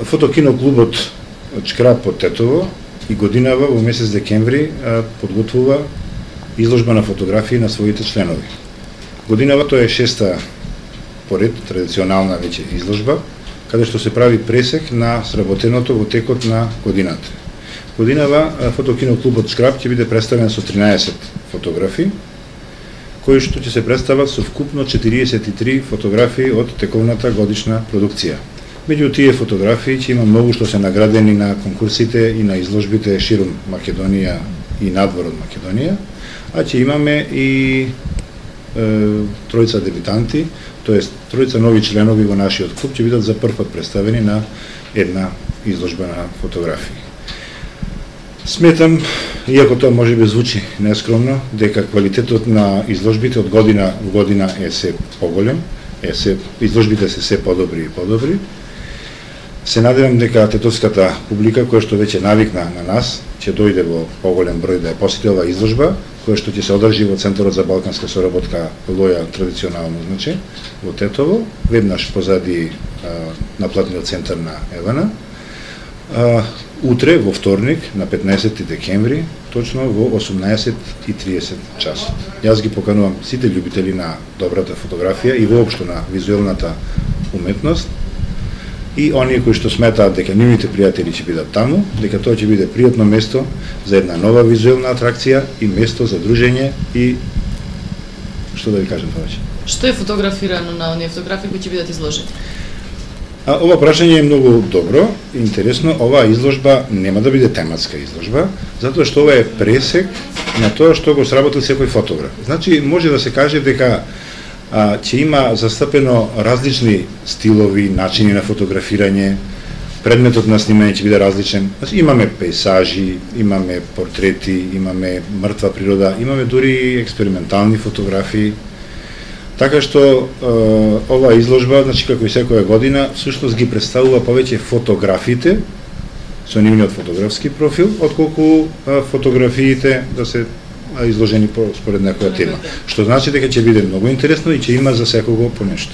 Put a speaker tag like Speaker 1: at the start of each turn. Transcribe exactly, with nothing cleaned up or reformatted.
Speaker 1: Фотокино клубот Шкрап од Тетово и годинава во месец декември подготвува изложба на фотографии на своите членови. Годинава тоа е шеста поред традиционална веќе изложба, каде што се прави пресек на сработеното во текот на годината. Годинава Фотокино клубот Шкрап ќе биде представен со тринаесет фотографии, кои што ќе се представат со вкупно четириесет и три фотографии од тековната годишна продукција. Меѓу тие фотографии ќе има многу што се наградени на конкурсите и на изложбите ширум Македонија и надвор од Македонија, а ќе имаме и е, тројца дебитанти, тоест тројца нови членови во нашиот клуб ќе бидат за прв пат представени на една изложба на фотографии. Сметам, иако тоа може би звучи нескромно, дека квалитетот на изложбите од година во година е се поголем, е се изложбите се се подобри и подобри. Се надевам дека тетовската публика, која што веќе навикна на нас, ќе дојде во поголем број да ја посети оваа изложба, која што ќе се одржи во Центарот за балканска соработка Лоја традиционално значи, во Тетово, веднаш позади а, наплатниот центар на Евана. А, утре, во вторник, на петнаесети декември, точно во осумнаесет и триесет часот. Јас ги поканувам сите љубители на добрата фотографија и воопшто на визуелната уметност, и оние кои што сметаат дека нивните пријатели ќе бидат таму, дека тоа ќе биде пријатно место за една нова визуелна атракција и место за дружење и што да ви кажам повеќе.
Speaker 2: Што е фотографирано на оние фотографии кои ќе бидат изложени?
Speaker 1: А, ова прашање е многу добро, интересно. Оваа изложба нема да биде тематска изложба, затоа што ова е пресек на тоа што го сработил секој фотограф. Значи, може да се каже дека а, ќе има застапено различни стилови, начини на фотографирање, предметот на снимање ќе биде различен. Значи, имаме пейсажи, имаме портрети, имаме мртва природа, имаме дури експериментални фотографии. Така што е, оваа изложба, значи како и секоја година, всушност ги представува повеќе фотографите со нивниот фотографски профил, отколку е, фотографиите да се изложени по, според некоја тема. Што значи дека ќе биде многу интересно и ќе има за секого по нешто.